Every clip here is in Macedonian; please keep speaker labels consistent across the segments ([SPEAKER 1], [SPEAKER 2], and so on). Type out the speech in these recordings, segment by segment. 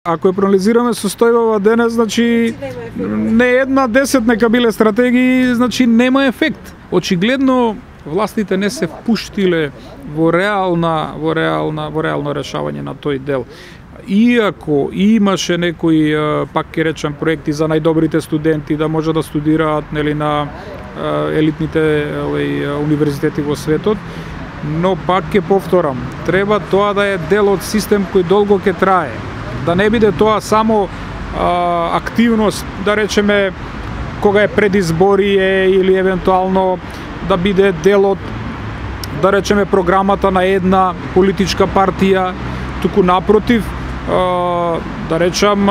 [SPEAKER 1] Ако ја проанализираме состојбава денес, значи не една 10 нека биле стратегии, значи нема ефект. Очигледно властите не се впуштиле во реално решавање на тој дел. Иако имаше некои, пак ќе речам, проекти за најдобрите студенти да може да студираат на елитните универзитети во светот, но пак ќе повторам, треба тоа да е дел од систем кој долго ќе трае. Да не биде тоа само активност, да речеме, кога е предизборие или евентуално да биде дел од, да речеме, програмата на една политичка партија, туку напротив, да речам,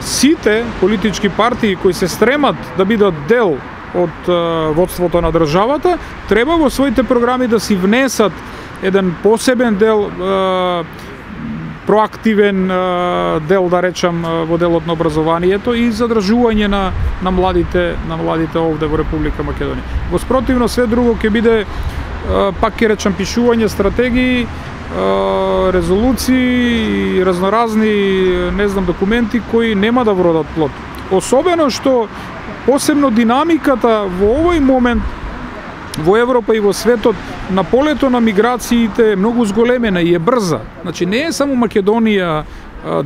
[SPEAKER 1] сите политички партии кои се стремат да бидат дел од водството на државата, треба во своите програми да си внесат еден посебен дел, проактивен дел, да речам, во делот на образованието и задржување на младите овде во Република Македонија. Во спротивно, све друго ќе биде, пак ќе речам, пишување стратегии, резолуции и разноразни, не знам, документи кои нема да вродат плод. Особено што посебно динамиката во овој момент во Европа и во светот на полето на миграциите е многу зголемена и е брза. Значи не е само Македонија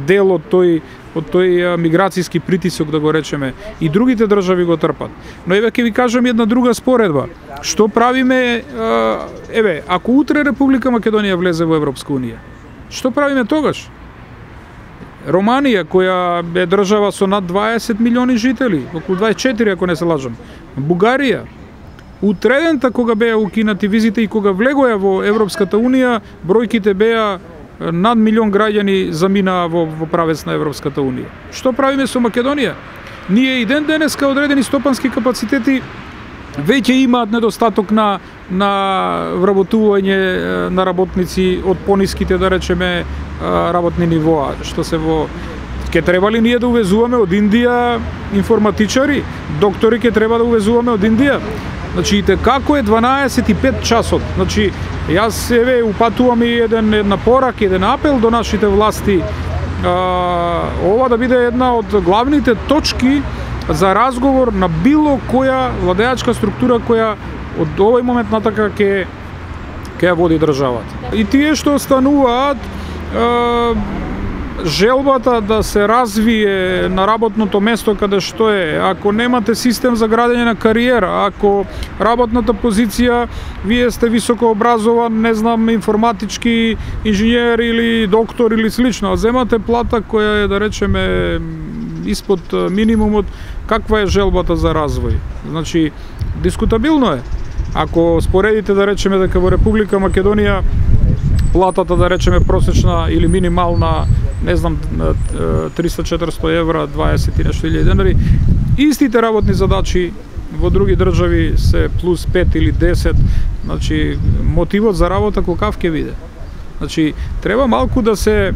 [SPEAKER 1] дел од тој миграцијски притисок, да го речеме, и другите држави го трпат. Но еве ќе ви кажам една друга споредба. Што правиме, ако утре Република Македонија влезе во Европска унија? Што правиме тогаш? Романија, која е држава со над 20 милиони жители, околу 24 ако не се лажам. Бугарија, утредента кога беа укинати визите и кога влегоја во Европската унија, бројките беа над милион граѓани заминаа во правец на Европската унија. Што правиме со Македонија? Ние и ден денеска одредени стопански капацитети веќе имаат недостаток на вработување на работници од пониските, да речеме, работни нивоа, што се во... Ке требали ние да увезуваме од Индија информатичари, доктори ке треба да увезуваме од Индија. Значи, како е 12:05 часот. Значи, јас упатувам и една порак, еден апел до нашите власти, ова да биде една од главните точки за разговор на било која владеачка структура која од овој момент натака ќе ја води државата. И тие што остануваат, желбата да се развие на работното место каде што е, ако немате систем за градење на кариера, ако работната позиција, вие сте високо образован, не знам, информатички инженер или доктор или слично, а земате плата која е, да речеме, испод минимумот, каква е желбата за развој? Значи, дискутабилно е. Ако споредите, да речеме, дека во Република Македонија платата, да речеме, просечна или минимална, не знам, 300-400 евра, 20 и нешто илјади денари, истите работни задачи во други држави се плюс 5 или 10, значи мотивот за работа колкав ќе биде. Значи, треба малку да се,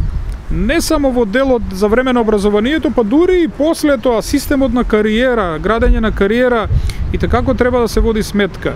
[SPEAKER 1] не само во делот за време на образованието, па дури и после тоа системот на кариера, градење на кариера, и како треба да се води сметка.